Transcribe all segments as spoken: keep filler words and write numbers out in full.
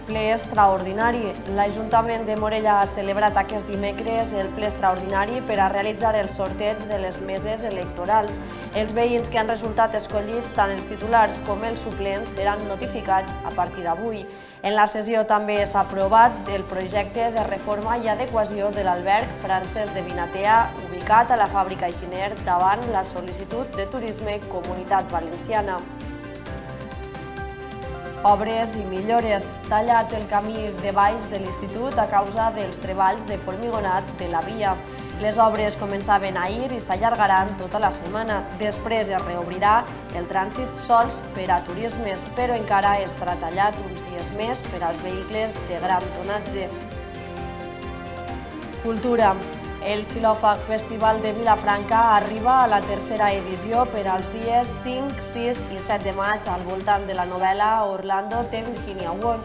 ple extraordinari. L'Ajuntament de Morella ha celebrat aquest dimecres el ple extraordinari per a realitzar el sorteig de les meses electorals. Els veïns que han resultat escollits, tant els titulars com els suplents, seran notificats a partir d'avui. En la sessió també s'ha aprovat el projecte de reforma i adequació de l'alberg Francesc de Vinatea, ubicat a la fàbrica Aixiner, davant la sol·licitud de Turisme Comunitat Valenciana. Obres i millores. Tallat el camí de baix de l'institut a causa dels treballs de formigonat de la via. Les obres començaven ahir i s'allargaran tota la setmana. Després es reobrirà el trànsit sols per a turismes, però encara estarà tallat uns dies més per als vehicles de gran tonatge. Cultura. El Xilòfag Festival de Vilafranca arriba a la tercera edició per als dies cinc, sis i set de maig al voltant de la novel·la Orlando de Virginia Woolf.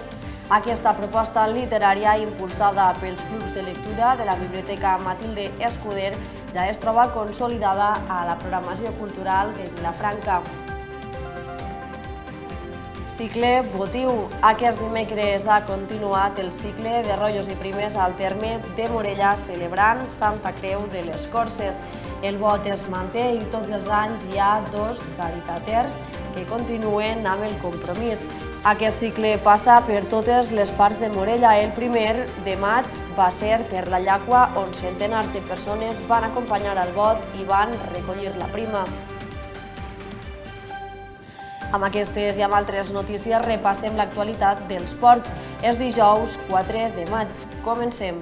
Aquesta proposta literària, impulsada pels clubs de lectura de la Biblioteca Matilde Escuder, ja es troba consolidada a la programació cultural de Vilafranca. Cicle votiu. Aquest dimecres ha continuat el cicle de rotllos i primes al terme de Morella celebrant Santa Creu de les Corses. El vot es manté i tots els anys hi ha dos caritaters que continuen amb el compromís. Aquest cicle passa per totes les parts de Morella. El primer de maig va ser per la Llacua, on centenars de persones van acompanyar el vot i van recollir la prima. Amb aquestes i amb altres notícies repassem l'actualitat dels ports. És dijous quatre de maig. Comencem.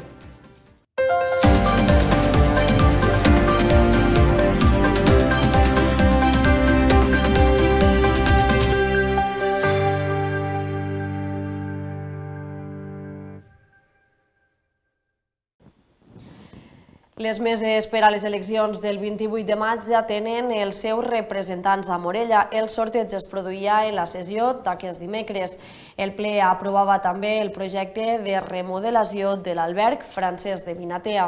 Les meses per a les eleccions del vint-i-vuit de maig ja tenen els seus representants a Morella. El sorteig es produïa en la sessió d'aquest dimecres. El ple aprovava també el projecte de remodelació de l'alberg Francesc de Vinatea.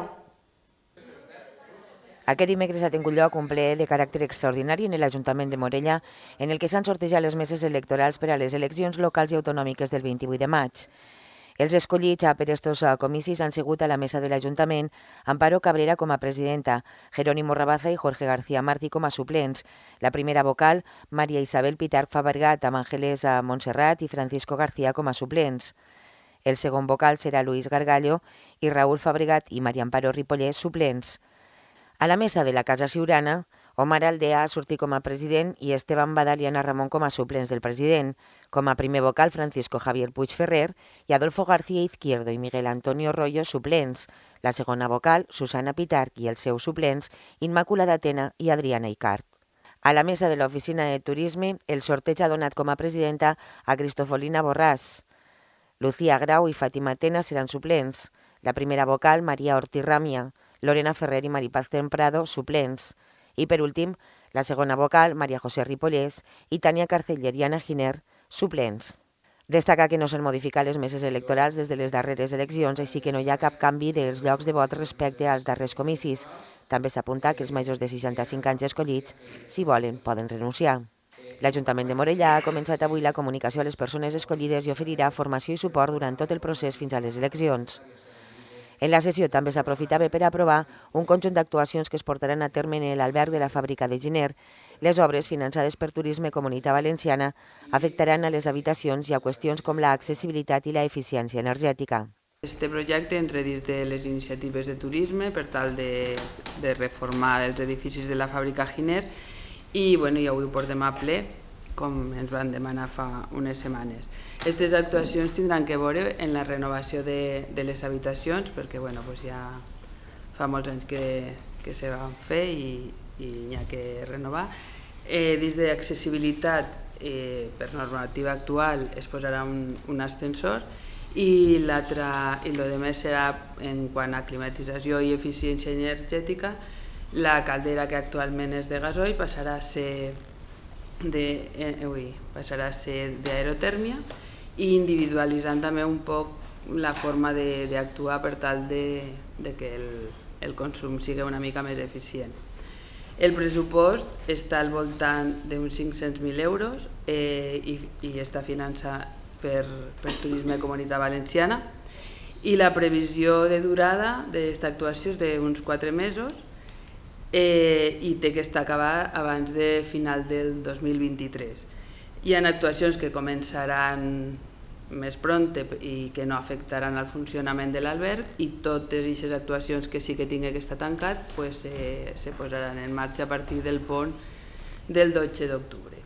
Aquest dimecres ha tingut lloc un ple de caràcter extraordinari en l'Ajuntament de Morella, en el que s'han sortejat les meses electorals per a les eleccions locals i autonòmiques del vint-i-vuit de maig. Els escollits per estos comicis han sigut a la mesa de l'Ajuntament Amparo Cabrera com a presidenta, Jerónimo Rabaza i Jorge García Martí com a suplents. La primera vocal, Maria Isabel Pitarch Fabregat, amb Ángeles Montserrat i Francisco García com a suplents. El segon vocal serà Luis Gargallo i Raúl Fabregat i Maria Amparo Ripollès, suplents. A la mesa de la Casa Siurana, Omar Aldea ha sortit com a president i Esteban Badal i Ana Ramon com a suplents del president. Com a primer vocal, Francisco Javier Puig Ferrer i Adolfo García Izquierdo i Miguel Antonio Rollo, suplents. La segona vocal, Susana Pitarch i els seus suplents, Immaculada Tena i Adriana Icart. A la mesa de l'Oficina de Turisme, el sorteig ha donat com a presidenta a Cristofolina Borràs. Lucía Grau i Fàtima Tena seran suplents. La primera vocal, Maria Ortiz Ràmia, Lorena Ferrer i Maripaz Temprado, suplents. I per últim, la segona vocal, Maria José Ripollès i Tania Carceller i Anna Giner, suplents. Destaca que no s'han modificat les meses electorals des de les darreres eleccions, així que no hi ha cap canvi dels llocs de vot respecte als darrers comicis. També s'apunta que els majors de seixanta-cinc anys escollits, si volen, poden renunciar. L'Ajuntament de Morella ha començat avui la comunicació a les persones escollides i oferirà formació i suport durant tot el procés fins a les eleccions. En la sessió també s'aprofitava per aprovar un conjunt d'actuacions que es portaran a terme en l'alberg de la fàbrica de Giner. Les obres, finançades per Turisme Comunitat Valenciana, afectaran a les habitacions i a qüestions com l'accessibilitat i l'eficiència energètica. Este projecte entra dins de les iniciatives de turisme per tal de, de reformar els edificis de la fàbrica Giner i, bueno, i avui ho portem a ple, com ens van demanar fa unes setmanes. Aquestes actuacions tindran que veure en la renovació de, de les habitacions, perquè bueno, pues ja fa molts anys que, que se van fer i, i n'hi ha que renovar. Eh, dins d'accessibilitat, eh, per normativa actual, es posarà un, un ascensor i l'altre, i el més serà en quant a climatització i eficiència energètica. La caldera, que actualment és de gasoil, passarà a ser de, eh, ui, passarà a ser d'aerotèrmia i individualitzant també un poc la forma d'actuar per tal de, de que el, el consum sigui una mica més eficient. El pressupost està al voltant d'uns cinc-cents mil euros eh, i, i està finançat per, per Turisme Comunitat Valenciana, i la previsió de durada d'aquesta actuació és d'uns quatre mesos eh, i té que estar acabada abans de final del dos mil vint-i-tres. Hi ha actuacions que començaran més pronte i que no afectaran el funcionament de l'alberg, i totes aquestes actuacions que sí que tingui que estar tancat pues, eh, se posaran en marxa a partir del pont del dotze d'octubre.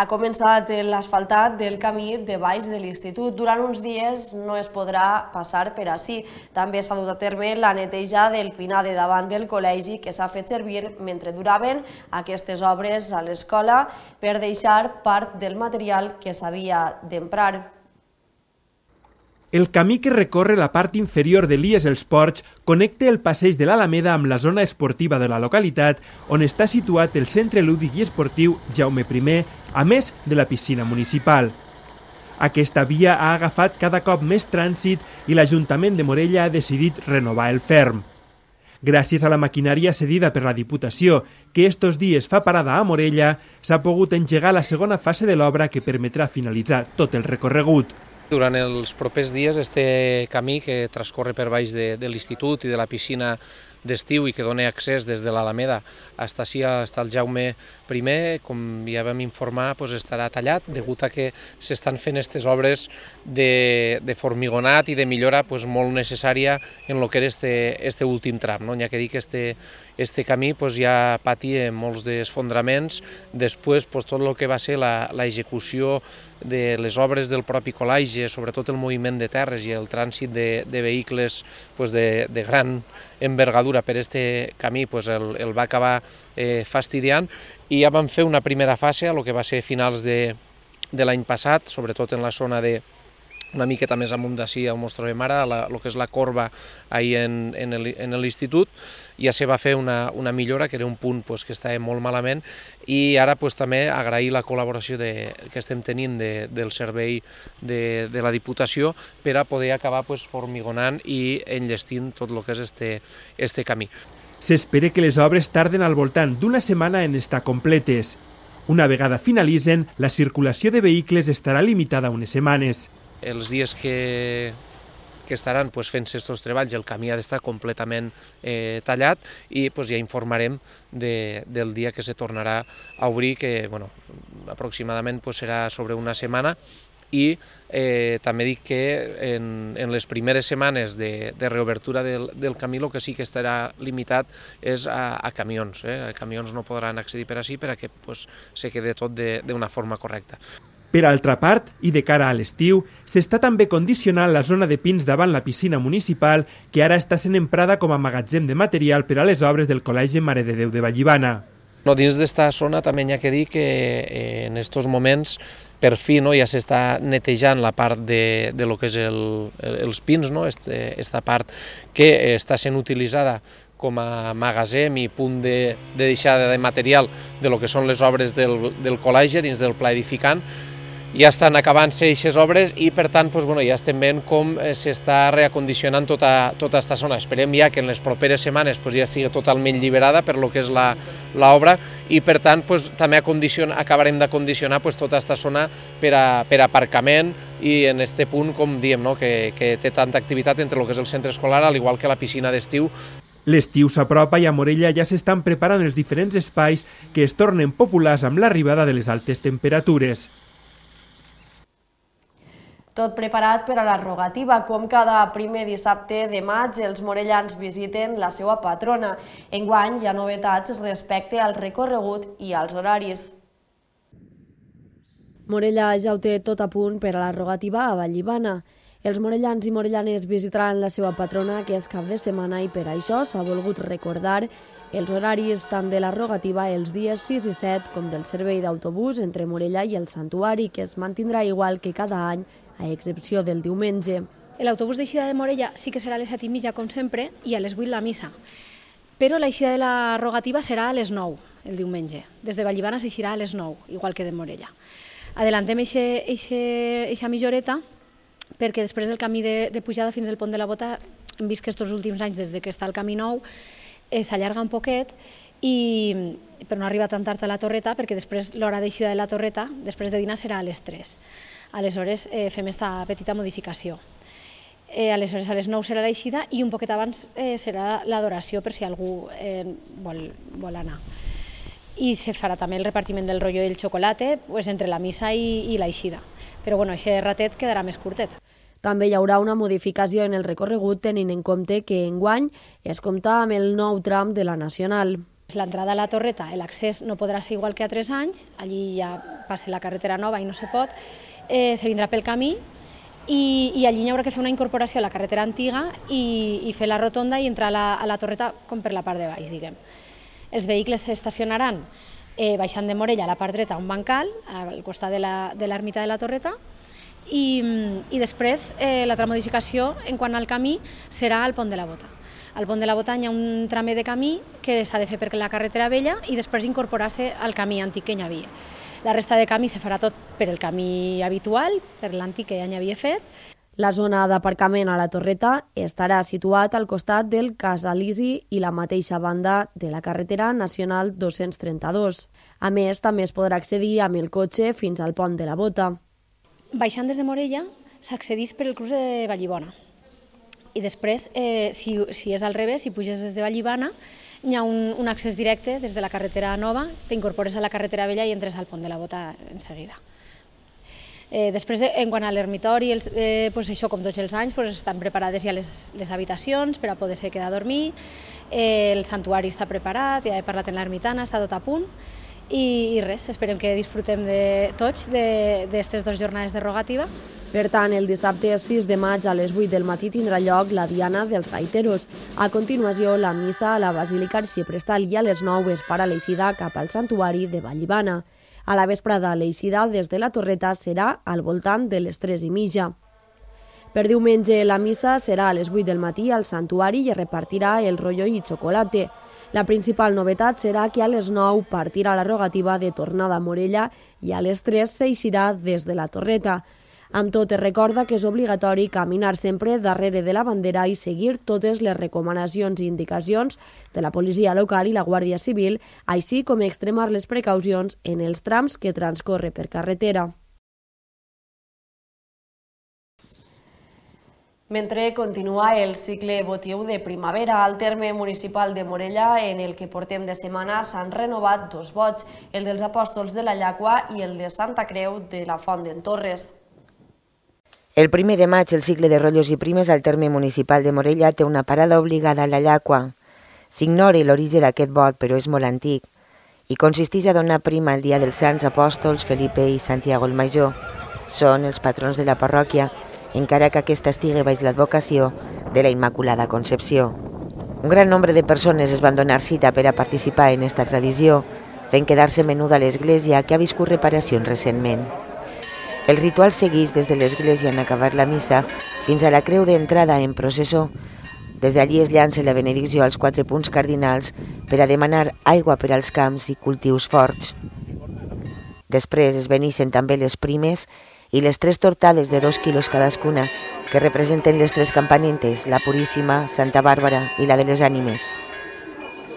Ha començat l'asfaltat del camí de baix de l'institut. Durant uns dies no es podrà passar per ací. També s'ha dut a terme la neteja del pinar de davant del col·legi que s'ha fet servir mentre duraven aquestes obres a l'escola per deixar part del material que s'havia d'emprar. El camí que recorre la part inferior de l'I E S Els Ports connecta el passeig de l'Alameda amb la zona esportiva de la localitat, on està situat el Centre Lúdic i Esportiu Jaume primer, a més de la piscina municipal. Aquesta via ha agafat cada cop més trànsit i l'Ajuntament de Morella ha decidit renovar el ferm. Gràcies a la maquinària cedida per la Diputació, que estos dies fa parada a Morella, s'ha pogut engegar la segona fase de l'obra que permetrà finalitzar tot el recorregut. Durant els propers dies, este camí que transcorre per baix de, de l'institut i de la piscina d'estiu i que dona accés des de l'Alameda fins ací, fins al Jaume primer, com ja vam informar, doncs estarà tallat degut a que s'estan fent aquestes obres de, de formigonat i de millora doncs, molt necessària en el que era este, este últim tram. No? N'hi ha que dir que este, este camí doncs, ja patia molts desfondraments, després doncs, tot el que va ser l'execució de les obres del propi col·legi, sobretot el moviment de terres i el trànsit de, de vehicles doncs, de, de gran envergadura per este camí doncs, el, el va acabar eh, fastidiant, i ja vam fer una primera fase a lo que va ser finals de, de l'any passat, sobretot en la zona de una miqueta més amunt d'ací on ens trobem ara, el que és la corba ahí en, en l'institut, ja se va fer una, una millora, que era un punt pues, que estava molt malament, i ara pues, també agrair la col·laboració de, que estem tenint de, del servei de, de la Diputació per a poder acabar pues, formigonant i enllestint tot el que és este, este camí. S'espera que les obres tarden al voltant d'una setmana en estar completes. Una vegada finalitzen, la circulació de vehicles estarà limitada a unes setmanes. Els dies que, que estaran pues, fent-se aquests treballs, el camí ha d'estar completament eh, tallat i pues, ja informarem de, del dia que se tornarà a obrir, que bueno, aproximadament pues, serà sobre una setmana, i eh, també dic que en, en les primeres setmanes de, de reobertura del, del camí el que sí que estarà limitat és a, a camions. Eh? A camions no podran accedir per ací perquè pues, se quede tot d'una forma correcta. Per altra part, i de cara a l'estiu, s'està també condicionant la zona de pins davant la piscina municipal, que ara està sent emprada com a magatzem de material per a les obres del Col·legi Mare de Déu de Vallibana. No, dins d'esta zona també hi ha que dir que eh, en aquests moments per fi no, ja s'està netejant la part de, de lo que és el, els pins, no? Este, esta part que està sent utilitzada com a magatzem i punt de, de deixada de material de lo que són les obres del, del col·legi dins del pla edificant. Ja estan acabant-se aquestes obres i per tant doncs, bueno, ja estem veient com s'està reacondicionant tota, tota aquesta zona. Esperem ja que en les properes setmanes doncs, ja sigui totalment lliberada per lo que és l'obra i per tant doncs, també acabarem d'acondicionar doncs, tota aquesta zona per a, per a aparcament i en aquest punt, com diem, no? que, que té tanta activitat entre el que és el centre escolar, al igual que la piscina d'estiu. L'estiu s'apropa i a Morella ja s'estan preparant els diferents espais que es tornen populars amb l'arribada de les altes temperatures. Tot preparat per a la rogativa. Com cada primer dissabte de maig, els morellans visiten la seva patrona. Enguany hi ha novetats respecte al recorregut i als horaris. Morella ja ho té tot a punt per a la rogativa a Vallibana. Els morellans i morellanes visitaran la seva patrona que és cap de setmana i per això s'ha volgut recordar els horaris tant de la rogativa els dies sis i set com del servei d'autobús entre Morella i el Santuari, que es mantindrà igual que cada any, a excepció del diumenge. L'autobús d'eixida de Morella sí que serà a les set i mitja, com sempre, i a les vuit la missa. Però l'eixida de la rogativa serà a les nou, el diumenge. Des de Vallibana s'eixirà a les nou, igual que de Morella. Adelantem eixa mitjoreta perquè després del camí de, de pujada fins al pont de la Bota hem vist que aquests últims anys, des que està el camí nou, eh, s'allarga un poquet i, però no arriba tan tard a la torreta perquè després l'hora d'eixida de la torreta, després de dinar, serà a les tres. Aleshores eh, fem aquesta petita modificació. Eh, aleshores a les nou serà l'eixida i un poquet abans eh, serà l'adoració per si algú eh, vol, vol anar. I se farà també el repartiment del rotllo i el xocolate pues, entre la missa i, i l'eixida. Però bueno, aquest ratet quedarà més curtet. També hi haurà una modificació en el recorregut tenint en compte que enguany es compta amb el nou tram de la Nacional. L'entrada a la torreta, l'accés no podrà ser igual que a tres anys, allí ja passa la carretera nova i no se pot, eh, se vindrà pel camí i, i allí hi haurà que fer una incorporació a la carretera antiga i, i fer la rotonda i entrar a la, a la torreta com per la part de baix, diguem. Els vehicles s'estacionaran eh, baixant de Morella a la part dreta a un bancal, al costat de l'ermita de, de la torreta, i, i després eh, l'altra modificació en quant al camí serà al Pont de la Bota. Al Pont de la Bota hi ha un tramer de camí que s'ha de fer per la carretera vella i després incorporar-se al camí antic que hi havia. La resta de camí se farà tot per el camí habitual, per l'antic que ja hi havia fet. La zona d'aparcament a la torreta estarà situat al costat del Cas Elisi i la mateixa banda de la carretera nacional dos-cents trenta-dos. A més, també es podrà accedir amb el cotxe fins al Pont de la Bota. Baixant des de Morella s'accedeix per el cruç de Vallibona. I després, eh, si, si és al revés, si puges des de Vallibana, hi ha un, un accés directe des de la carretera nova, t'incorpores a la carretera vella i entres al Pont de la Bota en seguida. Eh, després, en quant a l'ermitori, eh, pues això, com tots els anys, pues estan preparades ja les, les habitacions per a poder-se quedar a dormir, eh, el santuari està preparat, ja he parlat en l'ermitana, està tot a punt, i, i res, esperem que disfrutem de tots d'aquestes dues jornades de rogativa. Per tant, el dissabte sis de maig a les vuit del matí tindrà lloc la Diana dels Gaiteros. A continuació, la missa a la Basílica Arxiprestal i a les nou es farà l'eixida cap al santuari de Vallibana. A la vesprada, l'eixida des de la Torreta serà al voltant de les tres i mitja. Per diumenge, la missa serà a les vuit del matí al santuari i es repartirà el rotllo i xocolate. La principal novetat serà que a les nou partirà la rogativa de tornada a Morella i a les tres s'eixirà des de la Torreta. Amb tot, es recorda que és obligatori caminar sempre darrere de la bandera i seguir totes les recomanacions i indicacions de la policia local i la Guàrdia Civil, així com extremar les precaucions en els trams que transcorre per carretera. Mentre continua el cicle votiu de primavera, al terme municipal de Morella, en el que portem de setmana, s'han renovat dos vots, el dels Apòstols de la Llacua i el de Santa Creu de la Font d'en Torres. El primer de maig, el cicle de rotllos i primes al terme municipal de Morella té una parada obligada a la Llacua. S'ignora l'origen d'aquest vot, però és molt antic, i consisteix a donar prima el dia dels Sants Apòstols Felipe i Santiago el Major. Són els patrons de la parròquia, encara que aquesta estigui baix l'advocació de la Immaculada Concepció. Un gran nombre de persones es van donar cita per a participar en aquesta tradició, fent quedar-se menuda a l'església, que ha viscut reparacions recentment. El ritual segueix des de l'església en acabar la missa fins a la creu d'entrada en processó. Des d'allí es llança la benedicció als quatre punts cardinals per a demanar aigua per als camps i cultius forts. Després es beneixen també les primes i les tres tortades de dos quilos cadascuna, que representen les tres campanentes, la Puríssima, Santa Bàrbara i la de les Ànimes.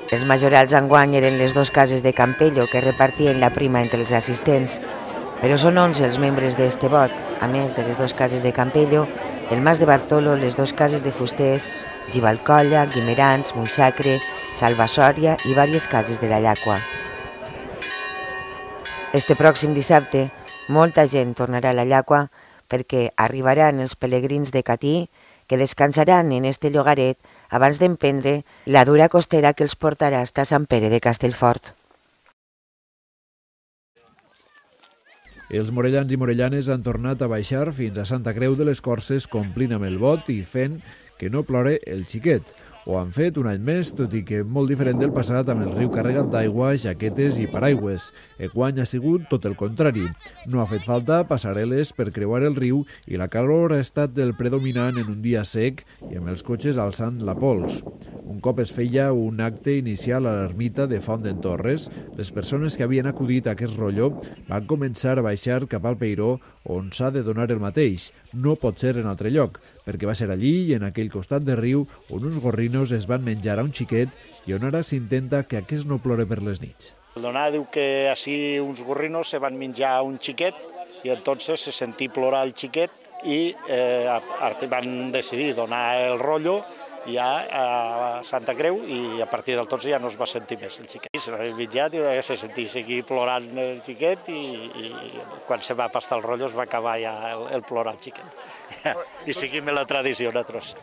Els majorals enguany eren les dues cases de Campello, que repartien la prima entre els assistents, però són onze els membres d'este vot, a més de les dues cases de Campello, el Mas de Bartolo, les dues cases de Fusters, Givalcolla, Guimerans, Moixacre, Salvasòria i diverses cases de la Llacua. Este pròxim dissabte, molta gent tornarà a la Llacua perquè arribaran els pelegrins de Catí que descansaran en este llogaret abans d'emprendre la dura costera que els portarà hasta Sant Pere de Castellfort. Els morellans i morellanes han tornat a baixar fins a Santa Creu de les Corses complint amb el vot i fent que no plore el xiquet. Ho han fet un any més, tot i que molt diferent del passat, amb el riu carregat d'aigua, jaquetes i paraigües. Enguany ha sigut tot el contrari. No ha fet falta passarel·les per creuar el riu i la calor ha estat el predominant en un dia sec i amb els cotxes alçant la pols. Un cop es feia un acte inicial a l'ermita de Font d'en Torres, les persones que havien acudit a aquest rotllo van començar a baixar cap al Peiró, on s'ha de donar el mateix. No pot ser en altre lloc, perquè va ser allí i en aquell costat de riu on uns gorrinos es van menjar a un xiquet i on ara s'intenta que aquest no plore per les nits. El donar diu que així uns gorrinos se van menjar un xiquet i entonces se sentí plorar el xiquet i eh, van decidir donar el rotllo ja a Santa Creu i a partir del tots ja no es va sentir més el xiquet. Se l'ha menjat i se sentí seguir plorant el xiquet i, i quan se va pastar el rotllo es va acabar ja el, el plorar el xiquet. I seguim la tradició nosaltres.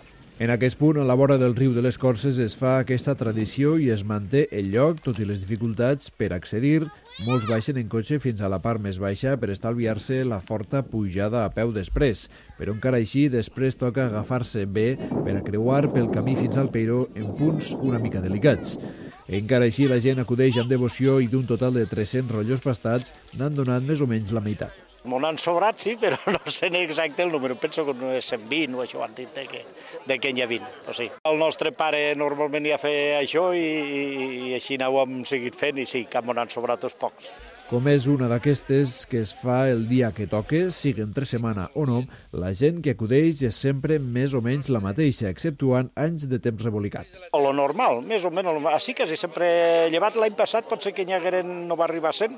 En aquest punt, a la vora del riu de les Corses, es fa aquesta tradició i es manté el lloc, tot i les dificultats per accedir. Molts baixen en cotxe fins a la part més baixa per estalviar-se la forta pujada a peu després. Però encara així, després toca agafar-se bé per a creuar pel camí fins al Peiró en punts una mica delicats. Encara així, la gent acudeix amb devoció i d'un total de tres-cents rotllos pastats n'han donat més o menys la meitat. M'ho n'han sobrat, sí, però no sé exacte el número. Penso que no és cent vint o això han dit de que, de que n'hi ha vint. O sigui, el nostre pare normalment ja feia això i, i així ho hem seguit fent i sí, que m'ho n'han sobrat uns pocs. Com és una d'aquestes que es fa el dia que toque, sigui entre setmana o no, la gent que acudeix és sempre més o menys la mateixa, exceptuant anys de temps rebolicat. O lo normal, més o menys. Així quasi sempre llevat l'any passat pot ser que n'hi hagueren, no va arribar a cent,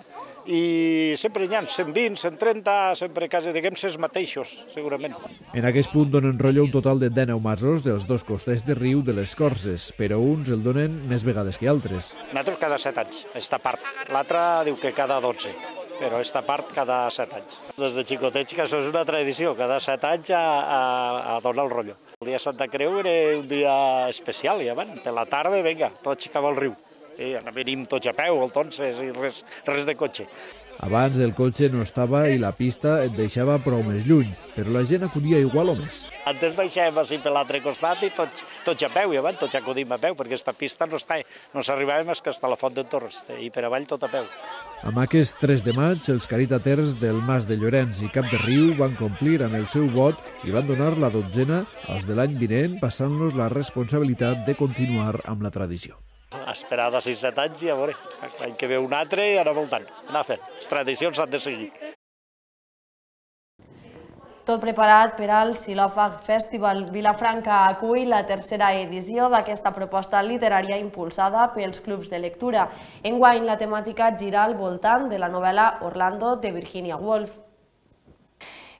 i sempre n'hi ha cent vint, cent trenta, sempre quasi diguem ses mateixos, segurament. En aquest punt donen rotllo un total de dinou masos dels dos costats de riu de les Corses, però uns el donen més vegades que altres. Nosaltres cada set anys, esta part. L'altra diu que cada dotze, però esta part cada set anys. Des de xicotets que això és una tradició, cada set anys a, a, a donar el rotllo. El dia de Santa Creu era un dia especial, ja van, per la tarda, vinga, tots cap al riu. I venim tots a peu, entonces, i res, res de cotxe. Abans el cotxe no estava i la pista et deixava prou més lluny, però la gent acudia igual o més. Antes baixàvem així per l'altre costat i tots, tots a peu, i abans tots acudim a peu, perquè aquesta pista no està, no s'arribàvem més que està a la Font d'en Torres, i per avall tot a peu. Amb aquest tres de maig, els caritaters del Mas de Llorenç i Cap de Riu van complir amb el seu vot i van donar la dotzena als de l'any vinent, passant-los la responsabilitat de continuar amb la tradició. Esperar de sis set anys i a veure, l'any que ve un altre i anar voltant, anar fent. Les tradicions s'han de seguir. Tot preparat per al Xilòfag Festival. Vilafranca acull la tercera edició d'aquesta proposta literària impulsada pels clubs de lectura. Enguany la temàtica gira al voltant de la novel·la Orlando de Virginia Woolf.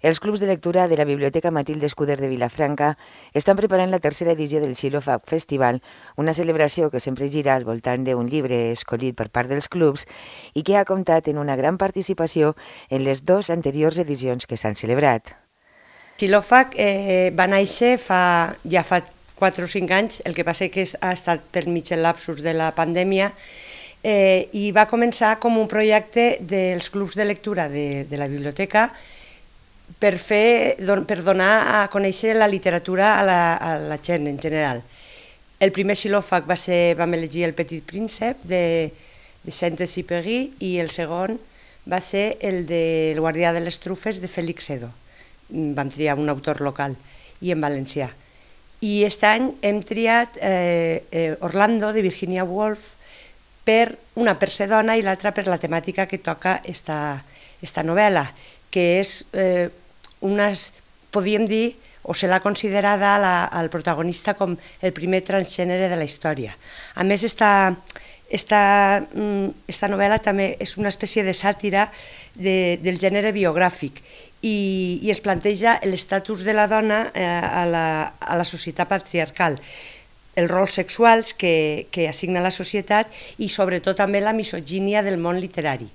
Els clubs de lectura de la Biblioteca Matilde Escuder de Vilafranca estan preparant la tercera edició del Xilòfag Festival, una celebració que sempre gira al voltant d'un llibre escollit per part dels clubs i que ha comptat en una gran participació en les dues anteriors edicions que s'han celebrat. Xilòfag eh, va néixer fa, ja fa quatre o cinc anys, el que passa que ha estat per mig el lapsus de la pandèmia, eh, i va començar com un projecte dels clubs de lectura de, de la biblioteca per, fer, per donar a conèixer la literatura a la, a la gent en general. El primer xilòfag va ser, vam elegir El Petit Príncep de, de Saint-Exupéry i el segon va ser el de El Guardià de les Trufes de Félix Edo. Vam triar un autor local i en valencià. I aquest any hem triat eh, eh, Orlando de Virginia Woolf per una per ser dona i l'altra per la temàtica que toca esta, esta novel·la, que és eh, unes, podríem dir, o se l'ha considerada la, al protagonista com el primer transgènere de la història. A més, esta, esta, esta novel·la també és una espècie de sàtira de, del gènere biogràfic i, i es planteja l'estatus de la dona eh, a, la, a la societat patriarcal, els rols sexuals que, que assigna la societat i sobretot també la misogínia del món literari.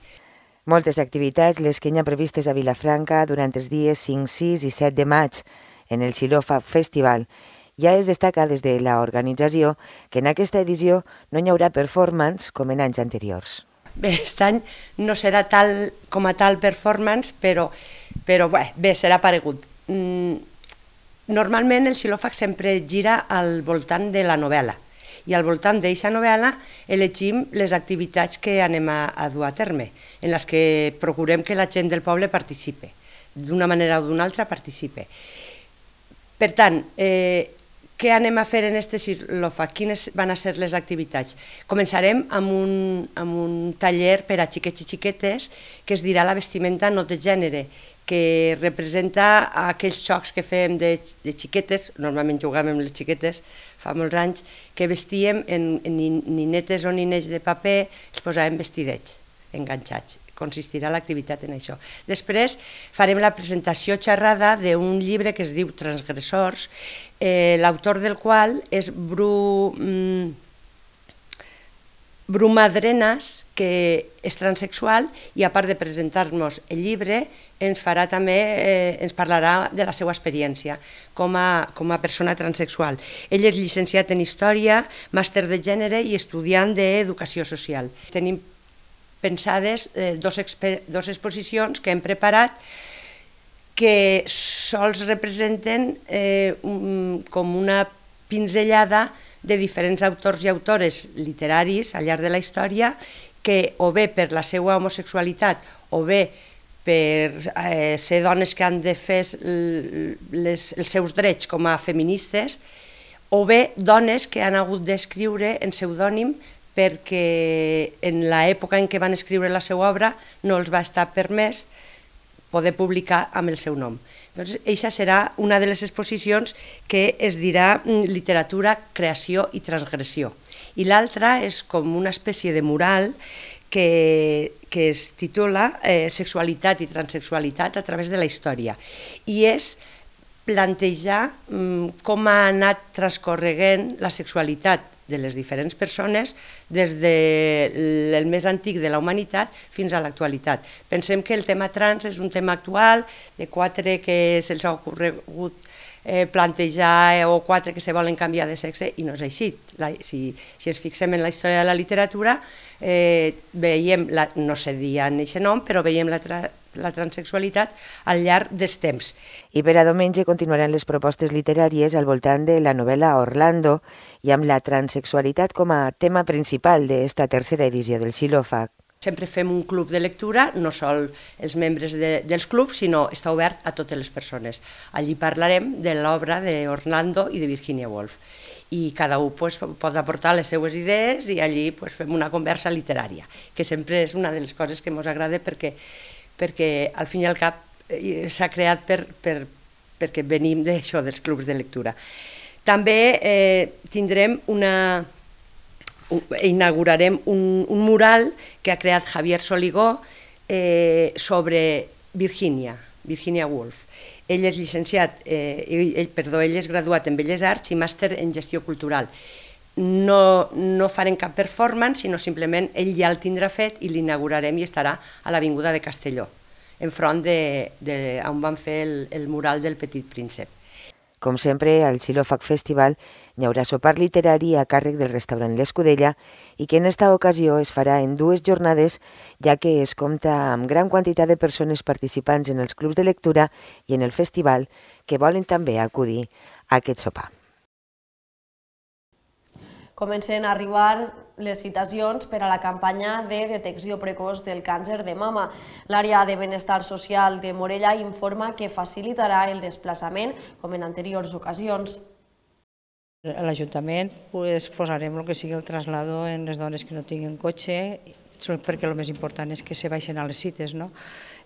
Moltes activitats les que hi ha previstes a Vilafranca durant els dies cinc, sis i set de maig en el Xilòfag Festival. Ja es destaca des de l'organització que en aquesta edició no hi haurà performance com en anys anteriors. Bé, aquest any no serà tal com a tal performance, però, però bé, bé, serà paregut. Normalment el Xilòfag sempre gira al voltant de la novel·la i al voltant d'aquesta novel·la elegim les activitats que anem a, a dur a terme, en les que procurem que la gent del poble participe, d'una manera o d'una altra participe. Per tant, eh, què anem a fer en este Silofac? Quines van a ser les activitats? Començarem amb un, amb un taller per a xiquets i xiquetes que es dirà la vestimenta no de gènere, que representa aquells xocs que fèiem de, de xiquetes, normalment jugàvem amb les xiquetes fa molts anys, que vestíem en, en ninetes o ninets de paper, els posàvem vestidets enganxats. Consistirà l'activitat en això. Després farem la presentació xerrada d'un llibre que es diu Transgressors, eh, l'autor del qual és Bru, mm, Bru Madrenas, que és transexual, i a part de presentar-nos el llibre, ens farà també, eh, ens parlarà de la seva experiència com a, com a persona transexual. Ell és llicenciat en Història, màster de Gènere i estudiant d'Educació Social. Tenim pensades eh, dos, dos exposicions que hem preparat que sols representen eh, un, com una pinzellada de diferents autors i autores literaris al llarg de la història que o bé per la seva homosexualitat o bé per eh, ser dones que han de fer les, els seus drets com a feministes o bé dones que han hagut d'escriure en pseudònim perquè en l'època en què van escriure la seva obra no els va estar permès poder publicar amb el seu nom. Doncs aquesta serà una de les exposicions que es dirà literatura, creació i transgressió. I l'altra és com una espècie de mural que, que es titula eh, Sexualitat i transexualitat a través de la història. I és plantejar mm, com ha anat transcorregent la sexualitat de les diferents persones des del més antic de la humanitat fins a l'actualitat. Pensem que el tema trans és un tema actual, de quatre que se'ls ha ocorregut eh, plantejar o quatre que se volen canviar de sexe i no és així. La, si, si ens fixem en la història de la literatura, eh, veiem, la, no se dia en aquest nom, però veiem la tra la transexualitat al llarg dels temps. I per a diumenge continuaran les propostes literàries al voltant de la novel·la Orlando i amb la transexualitat com a tema principal d'esta tercera edició del Silofac. Sempre fem un club de lectura, no sol els membres de, dels clubs, sinó està obert a totes les persones. Allí parlarem de l'obra d'Orlando i de Virginia Woolf. I cada un pues, pot aportar les seues idees i allí pues, fem una conversa literària, que sempre és una de les coses que ens agrada perquè perquè al fin i al cap eh, s'ha creat per, per, perquè venim d'això, dels clubs de lectura. També eh, tindrem una, un, inaugurarem un, un mural que ha creat Javier Soligó eh, sobre Virginia, Virginia Woolf. Ell és llicenciat, eh, ell, perdó, ell és graduat en Belles Arts i màster en Gestió Cultural. No, no farem cap performance, sinó simplement ell ja el tindrà fet i l'inaugurarem i estarà a l'Avinguda de Castelló, enfront de, de on van fer el, el mural del Petit Príncep. Com sempre, al Silofac Festival hi haurà sopar literari a càrrec del restaurant L'Escudella i que en esta ocasió es farà en dues jornades, ja que es compta amb gran quantitat de persones participants en els clubs de lectura i en el festival que volen també acudir a aquest sopar. Comencen a arribar les citacions per a la campanya de detecció precoç del càncer de mama. L'àrea de benestar social de Morella informa que facilitarà el desplaçament com en anteriors ocasions. A l'Ajuntament pues, posarem el que sigui el traslado en les dones que no tinguin cotxe, perquè el més important és que se baixen a les cites, no?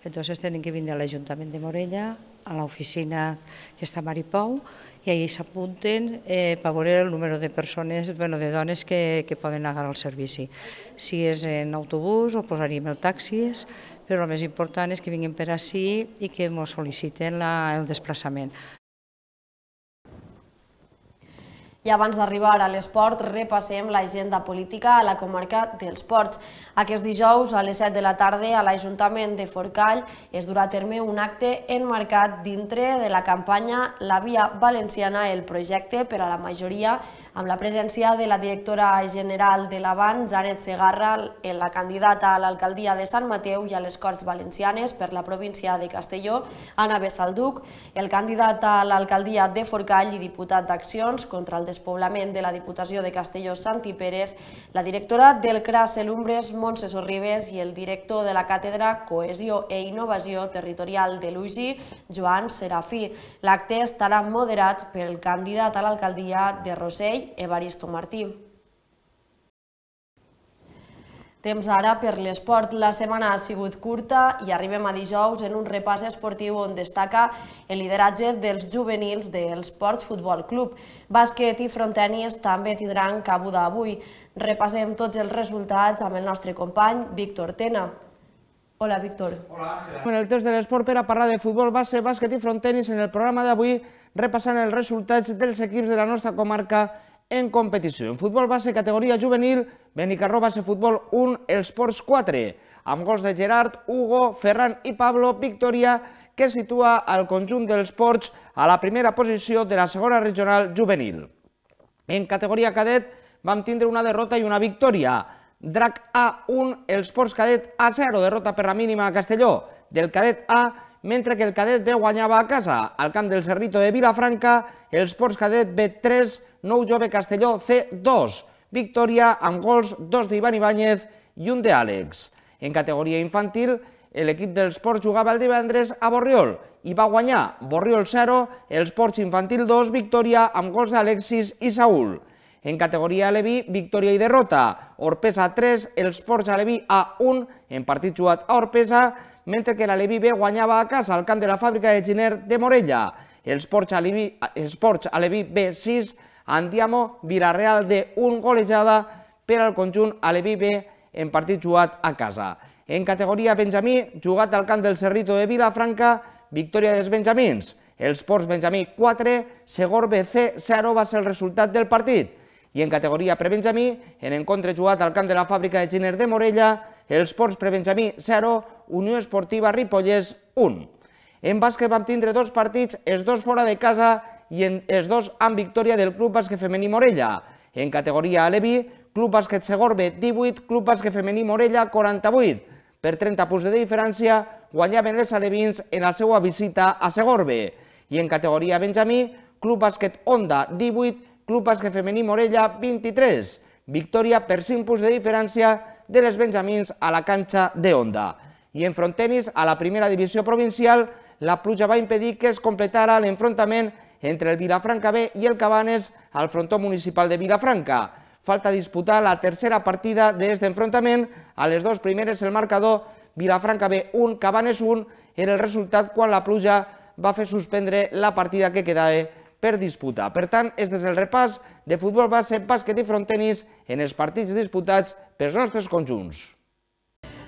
Entonces tenen que vindre a l'Ajuntament de Morella, a l'oficina que està a Maripou, i allà s'apunten eh, per veure el número de persones, bueno, de dones que, que poden agarrar el servici. Si és en autobús o posaríem el taxis, però el més important és que vinguin per ací i que ens sol·liciten la, el desplaçament. I abans d'arribar a l'esport, repassem l'agenda política a la comarca dels Ports. Aquest dijous, a les set de la tarda, a l'Ajuntament de Forcall es durà a terme un acte enmarcat dintre de la campanya La Via Valenciana, el projecte per a la majoria amb la presència de la directora general de l'Avant, Janet Segarra, la candidata a l'alcaldia de Sant Mateu i a les Corts Valencianes per la província de Castelló, Anna Bessalduc, el candidat a l'alcaldia de Forcall i diputat d'Accions contra el despoblament de la Diputació de Castelló, Santi Pérez, la directora del C R A Selumbres, Montse Sorribes, i el director de la Càtedra Cohesió e Innovació Territorial de l'U G I, Joan Serafí. L'acte estarà moderat pel candidat a l'alcaldia de Rossell, Evaristo Martí. Temps ara per l'esport. La setmana ha sigut curta i arribem a dijous en un repàs esportiu on destaca el lideratge dels juvenils del Sports Futbol Club. Bàsquet i frontenis també tindran cabuda avui. Repassem tots els resultats amb el nostre company Víctor Tena. Hola, Víctor. Hola, Àngela. En el temps de l'esport per a parlar de futbol base, bàsquet i frontenis en el programa d'avui repassant els resultats dels equips de la nostra comarca en competició. En futbol base categoria juvenil, Benicarró Base Futbol un, els Ports quatre, amb gols de Gerard, Hugo, Ferran i Pablo, victòria que situa el conjunt dels Ports a la primera posició de la segona regional juvenil. En categoria cadet vam tindre una derrota i una victòria. Drac A un, els Ports Cadet A zero, derrota per la mínima a Castelló del Cadet A, mentre que el Cadet B guanyava a casa. Al camp del Cerrito de Vilafranca, els Ports Cadet B tres, Nou Jove Castelló C dos, victòria amb gols, dos d'Ivan Ibáñez i un d'Àlex. En categoria infantil, l'equip dels Ports jugava el divendres a Borriol i va guanyar Borriol zero, els Ports Infantil dos, victòria amb gols d'Alexis i Saúl. En categoria Aleví, victòria i derrota. Orpesa tres, els Ports Aleví A un, en partit jugat a Orpesa, mentre que l'Aleví B guanyava a casa al camp de la fàbrica de Giner de Morella. Els Ports Aleví, els Ports Aleví B sis, Andiamo Villarreal de un, golejada per al conjunt Aleví B en partit jugat a casa. En categoria Benjamí, jugat al camp del Cerrito de Vilafranca, victòria dels benjamins. Els Ports Benjamí quatre, Segor B C zero va ser el resultat del partit. I en categoria prebenjamí, en encontre jugat al camp de la fàbrica de Giner de Morella, els Ports Prebenjamí zero, Unió Esportiva Ripollès un. En bàsquet vam tindre dos partits, els dos fora de casa i els dos amb victòria del Club Bàsquet Femení Morella. En categoria Aleví, Club Bàsquet Segor B divuit, Club Bàsquet Femení Morella quaranta-vuit. Per trenta punts de diferència guanyaven els alevins en la seva visita a Segor B. I en categoria Benjamí, Club Bàsquet Onda divuit, Club Bàsquet Femení Morella vint-i-tres, victòria per cinc punts de diferència de les benjamins a la canxa de Onda. I en frontenis, a la primera divisió provincial, la pluja va impedir que es completara l'enfrontament entre el Vilafranca B i el Cabanes al frontó municipal de Vilafranca. Falta disputar la tercera partida d'aquest enfrontament. A les dues primeres el marcador Vilafranca B un, Cabanes un era el resultat quan la pluja va fer suspendre la partida que quedava per disputar. Per tant, és des del repàs de futbol base, bàsquet i frontenis en els partits disputats pels nostres conjunts.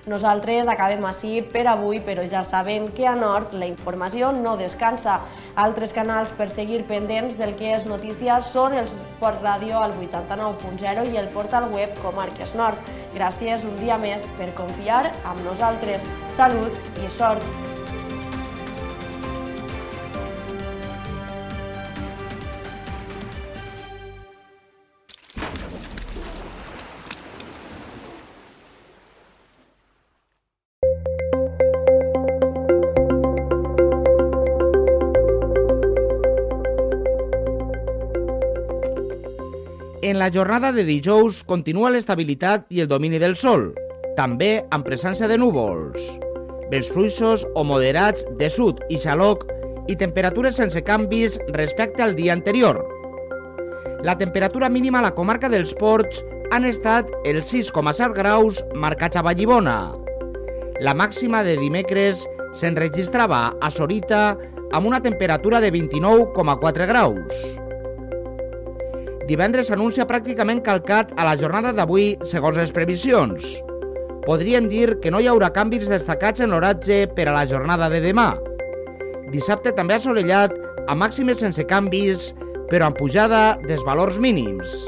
Nosaltres acabem així per avui, però ja saben que a Nord la informació no descansa. Altres canals per seguir pendents del que és notícia són els Ports Ràdio al vuitanta-nou punt zero i el portal web Comarques Nord. Gràcies un dia més per confiar amb nosaltres. Salut i sort! En la jornada de dijous continua l'estabilitat i el domini del sol, també amb presència de núvols. Vents fluixos o moderats de sud i xaloc i temperatures sense canvis respecte al dia anterior. La temperatura mínima a la comarca dels Ports han estat els sis coma set graus marcats a Vallibona. La màxima de dimecres s'enregistrava a Sorita amb una temperatura de vint-i-nou coma quatre graus. Divendres s'anuncia pràcticament calcat a la jornada d'avui segons les previsions. Podríem dir que no hi haurà canvis destacats en l'oratge per a la jornada de demà. Dissabte també assolellat, amb màximes sense canvis, però amb pujada dels valors mínims.